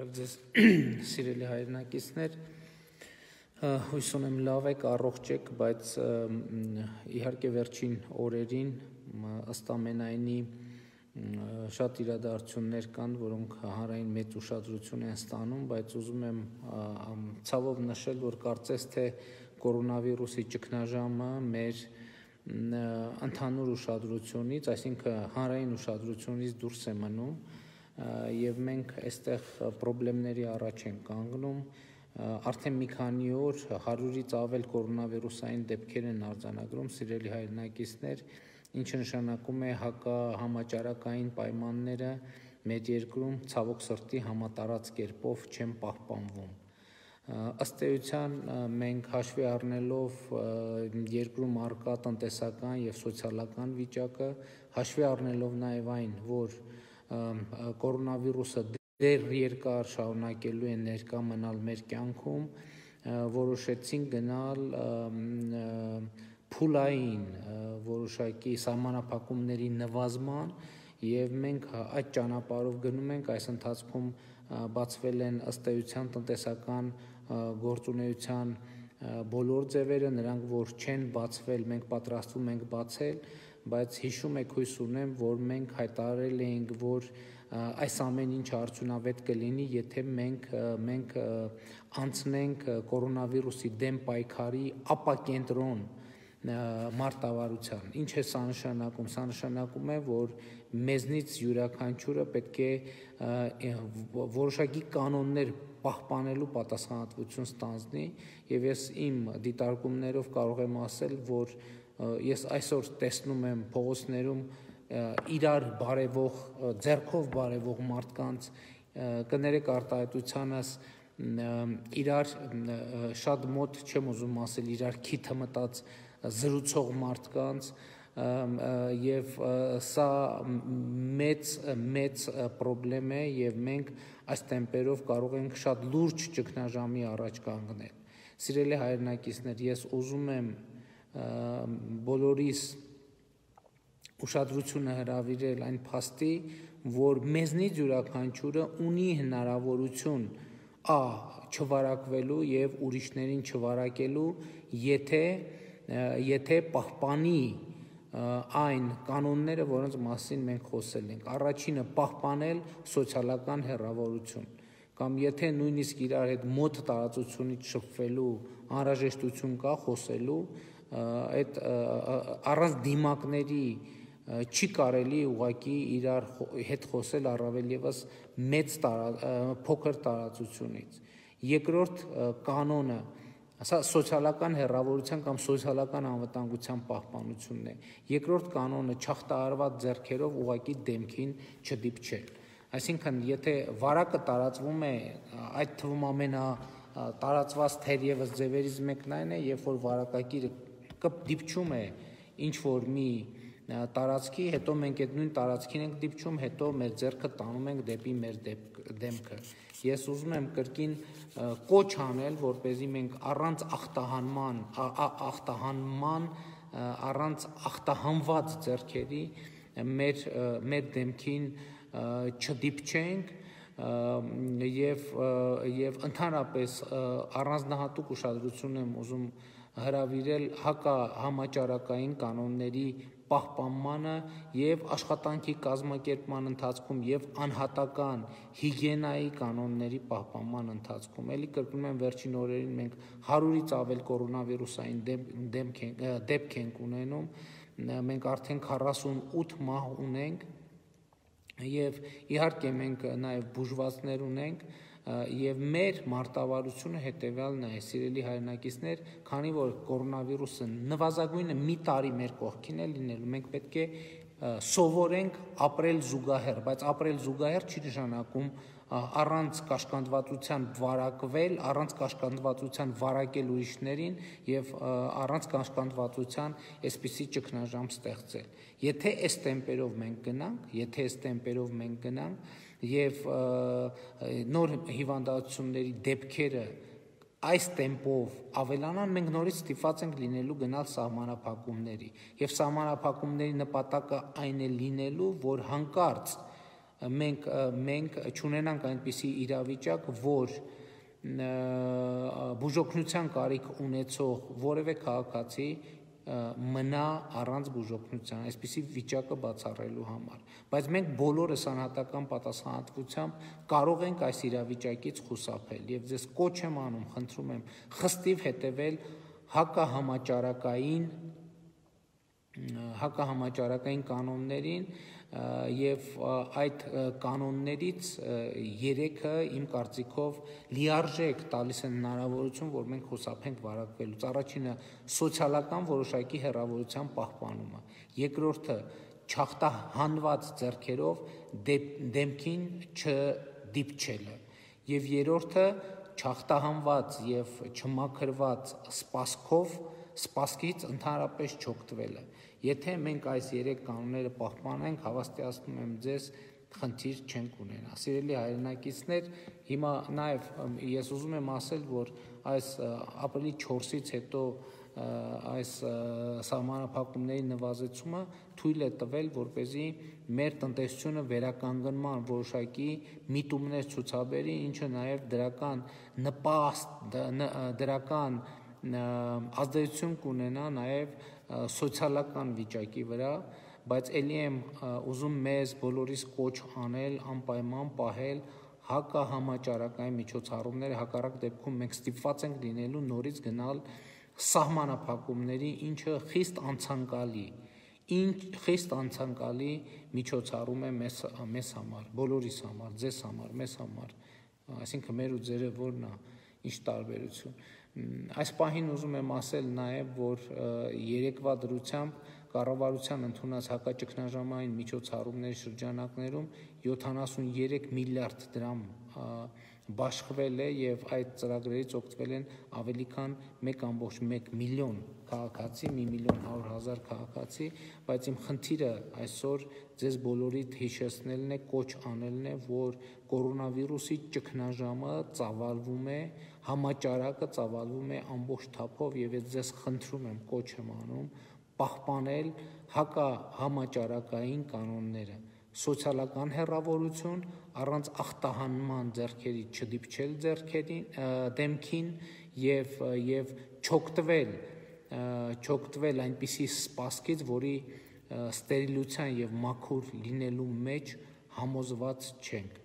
Բարև ձեզ սիրելի հայրենակիցներ, հույս ունեմ լավ եք, առողջ եք, բայց իհարկե վերջին օրերին ըստ ամենայնի շատ իրադարձություններ կան, որոնք հանրային մեծ ուշադրություն են ստանում, բայց ուզում եմ ցավով նշել, որ կարծես թե կորոնավիրուսի ճգնաժամը մեր ընդհանուր ուշադրությունից, այսինքն հանրային ուշադրությունից դուրս է մնում եւ մենք այստեղ խնդիրների առաջ ենք կանգնում, արդեն մի քանի օր 100-ից ավել կորոնավիրուսային դեպքեր են արձանագրում, սիրելի հայրենակիցներ, ինչը նշանակում է համաճարակային պայմանները մեր երկրում ցավոք սրտի համատարած կերպով չեն պահպանվում։ Ըստ էության մենք հաշվի առնելով երկրում առկա տնտեսական եւ սոցիալական վիճակը, հաշվի առնելով նաեւ այն, որ կորոնավիրուսը դեռ երկար շարունակելու է ներկա մնալ մեր կյանքում, որոշեցինք գնալ փուլային որոշակի սահմանափակումների նվազման եւ մենք այդ ճանապարհով գնում ենք, այս ընթացքում բացվել են ըստ էության տնտեսական գործունեության բոլոր ձևերը, նրանք որ չեն բացվել, մենք պատրաստվում ենք բացել, բայց հիշում եք, հույս ունեմ, որ մենք հայտարարել էինք, որ այս ամեն ինչ արդյունավետ կլինի, եթե մենք անցնենք կորոնավիրուսի դեմ պայքարի ապակենտրոն մարտավարության։ Ինչ է սա նշանակում։ Սա նշանակում է, որ մեզնից յուրաքանչյուրը պետք է որոշակի կանոններ պահպանելու պատասխանատվություն ստանձնի, եւ ես իմ դիտարկումներով կարող եմ ասել, որ ես այսօր տեսնում եմ փողոցներում իրար բարևող, ձեռքով բարևող մարդկանց, կներեք արտահայտությանս, իրար շատ մոտ չեմ ուզում ասել, իրար քիթը մտած զրուցող մարդկանց, եւ սա մեծ պրոբլեմ է եւ մենք այս տեմպերով կարող ենք շատ լուրջ ճգնաժամի առաջ կանգնել։ Սիրելի հայրենակիցներ, ես ուզում եմ բոլորիս ուշադրությունը հրավիրել այն փաստի, որ մեզնից յուրաքանչյուրը ունի հնարավորություն չվարակվելու եւ ուրիշներին չվարակելու, եթե պահպանի այն կանոնները, որոնց մասին մենք խոսել ենք։ Առաջինը պահպանել սոցիալական հեռավորություն, կամ եթե նույնիսկ իրար հետ մոտ տարածությունից շփվելու անհրաժեշտություն կա խոսելու, այդ առանց դիմակների չի կարելի ուղղակի իրար հետ խոսել, առավել եւս փոքր տարածությունից։ Երկրորդ կանոնը, սա սոցիալական հեռավորության կամ սոցիալական անվտանգության պահպանությունն է։ Երկրորդ կանոնը չախտահարված ձեռքերով ուղղակի դեմքին չդիպչել։ Այսինքն, եթե վարակը տարածվում է, այդ թվում ամենատարածված թերևս ձևերից մեկն այն է, երբ որ վարակագիրը դիպչում է ինչ-որ մի տարածքի, հետո մենք այդ նույն տարածքին ենք դիպչում, հետո մեր ձեռքը տանում ենք դեպի մեր դեմքը։ Ես ուզում եմ կրկին կոչ անել, որպեսզի մենք առանց առանց ախտահանված ձեռքերի մեր դեմքին չդիպչենք եւ ընդհանրապես առանձնահատուկ ուշադրություն եմ ուզում հրավիրել համաճարակային կանոնների պահպանմանը եւ աշխատանքի կազմակերպման ընթացքում եւ անհատական հիգիենայի կանոնների պահպանման ընթացքում։ Էլի կրկնում եմ, վերջին օրերին մենք 100-ից ավել կորոնավիրուսային դեպք ենք ունենում, մենք արդեն 48 մահ ունենք եւ իհարկե մենք նաեւ բուժվածներ ունենք եւ մեր մարտավարությունը հետեւյալն է, սիրելի հայրենակիցներ, քանի որ կորոնավիրուսը նվազագույնը մի տարի մեր կողքին է լինելու, մենք պետք է սովորենք ապրել զուգահեռ, բայց ապրել զուգահեռ չի նշանակում առանց կաշկանդվածության վարակվել, առանց կաշկանդվածության վարակել ուրիշներին եւ առանց կաշկանդվածության այսպիսի ճգնաժամ ստեղծել։ Եթե այս տեմպերով մենք գնանք, եւ նոր հիվանդությունների դեպքերը այս տեմպով ավելանան, մենք նորից ստիպված ենք լինելու գնալ սահմանափակումների, եւ սահմանափակումների նպատակը այն է լինելու, որ հանկարծ մենք չունենանք այնպիսի իրավիճակ, որ բուժօգնության կարիք ունեցող որևէ քաղաքացի մնա առանց բուժօգնության, այսպիսի վիճակը բացառելու համար, բայց մենք բոլորս անհատական պատասխանատվությամբ կարող ենք այս իրավիճակից խուսափել եւ ձեզ կոչ եմ անում, խնդրում եմ խստիվ հետեւել հակահամաճարակային կանոններին եւ այդ կանոններից 3-ը իմ կարծիքով լիարժեք տալիս են հնարավորություն, որ մենք խուսափենք վարակվելուց։ Առաջինը սոցիալական որոշակի հեռավորության պահպանումը, երկրորդը չախտահանված ձեռքերով դեմքին չդիպչելը եւ երրորդը չախտահանված եւ չմաքրված սպասքից ընդհանրապես չօգտվելը։ Եթե մենք այս 3 կանոնները պահպանենք, հավաստիացնում եմ ձեզ, խնդիր չենք ունենա։ Սիրելի հայրենակիցներ, հիմա նաև ես ուզում եմ ասել, որ այս ապրիլի 4-ից հետո այս սահմանափակումների նվազեցումը թույլ է տվել, որպեսզի մեր տնտեսությունը վերականգնման որոշակի միտումներ ցուցաբերի, ինչը նաև դրական ազդեցություն կունենա նաև սոցիալական վիճակի վրա, բայց ելի եմ ուզում մեզ բոլորիս կոչ անել անպայման պահել հակահամաճարակային միջոցառումները, հակառակ դեպքում մենք ստիպված ենք լինելու նորից գնալ սահմանափակումների, ինչը խիստ անցանկալի միջոցառում է մեզ համար, բոլորիս համար, ձեզ համար, մեզ համար, այսինքն մեր ու ձերը որն է, ինչ տարբերություն։ Այս պահին ուզում եմ ասել նաև, որ երեկվա դրությամբ կառավարության ընդունած հակաճգնաժամային միջոցառումների շրջանակներում 73 միլիարդ դրամ բաշխվել է եւ այդ ծրագրերից օգտվել են ավելի քան 1.1 միլիոն քաղաքացի, 1.100.000 քաղաքացի, բայց իմ խնդիրը այսօր ձեզ բոլորիդ հիշեցնելն է, կոչ անելն է, որ կորոնավիրուսի ճգնաժամը ծավալվում է, համաճարակը ծավալվում է ամբողջ թափով եւ ձեզ խնդրում եմ, կոչ եմ անում պահպանել հակահամաճարակային կանոնները, սոցիալական հեռավորություն, առանց ախտահանման ձեռքերից չդիպչել դեմքին եւ չօգտվել այնպիսի սպասքից, որի ստերիլության եւ մաքուր լինելու մեջ համոզված չենք։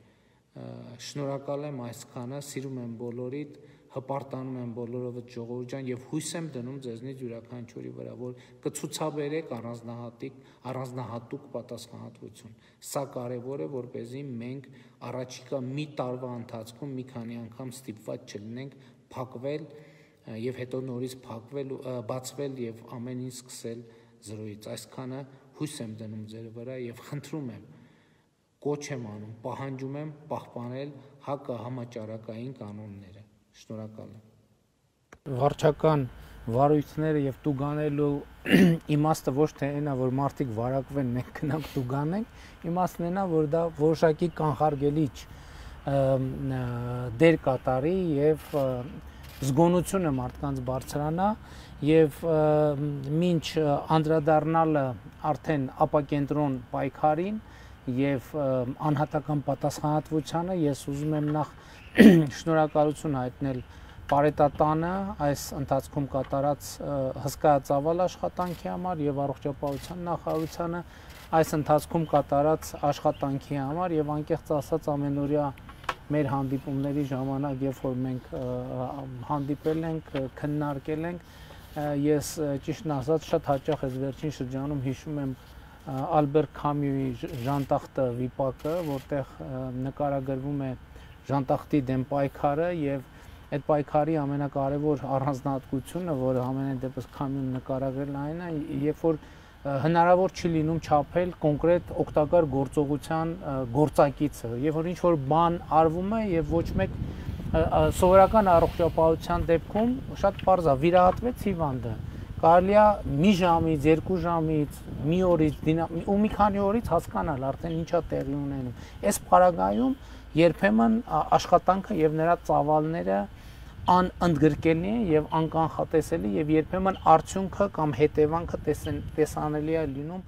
Շնորհակալ եմ այսքանը, սիրում եմ բոլորիդ, հպարտանում եմ բոլորովդ ժողովուրդ ջան եւ հույս եմ դնում ձեզնից յուրաքանչյուրի վրա, որ կցուցաբերեք առանձնահատուկ պատասխանատվություն։ Սա կարեւոր է, որպեսզի մենք առաջիկա մի տարվա ընթացքում մի քանի անգամ ստիպված չլինենք փակվել եւ հետո նորից բացվել եւ ամեն ինչ սկսել զրոյից։ Այսքանը հույս եմ դնում ձեր վրա եւ խնդրում եմ, կոչ եմ անում, պահանջում եմ պահպանել հակահամաճարակային կանոնները։ Շնորհակալ եմ։ Վարչական վարույթները եւ տուգանելու իմաստը ոչ թե այնա, որ մարդիկ վարակվեն, մենք գնանք տուգանենք, իմաստն այնա, որ դա որոշակի կանխարգելիչ դեր կատարի եւ զգոնությունը մարդկանց բարձրանա եւ մինչ անդրադառնալը արդեն ապակենտրոն պայքարին եւ անհատական պատասխանատվությանը ես ուզում եմ նախ շնորհակալություն հայտնել Պարետատանը այս ընթացքում կատարած հսկայածավալ աշխատանքի համար եւ առողջապահության նախարարությանը այս ընթացքում կատարած աշխատանքի համար եւ անկեղծ ասած ամենօրյա մեր հանդիպումների ժամանակ, երբ որ մենք հանդիպել ենք, քննարկել ենք, ես ճիշտն ասած շատ հաճախ այս վերջին շրջանում հիշում եմ Ալբեր Քամյուի Ժանտախտը վիպակը, որտեղ նկարագրվում է Ժանտախտի դեմ պայքարը եւ այդ պայքարի ամենակարևոր առանձնահատկությունը, որը ամենայն դեպս Քամյուն նկարագրել այն է, երբ որ հնարավոր չի լինում չափել կոնկրետ օգտակար գործողության գործակիցը, եւ որ ինչ որ բան արվում է եւ ոչ մեկ սովորական առողջապահության դեպքում շատ պարզ է, վիրահատվեց հիվանդը, կարելի է մի ժամից, 2 ժամից, մի օրից ու մի քանի օրից հասկանալ արդեն ինչա տեղի ունենում։ Այս պարագայում երբեմն աշխատանքը եւ նրա ծավալները անընդգրկելի են եւ անկանխատեսելի եւ երբեմն արդյունքը կամ հետևանքը տեսանելի է լինում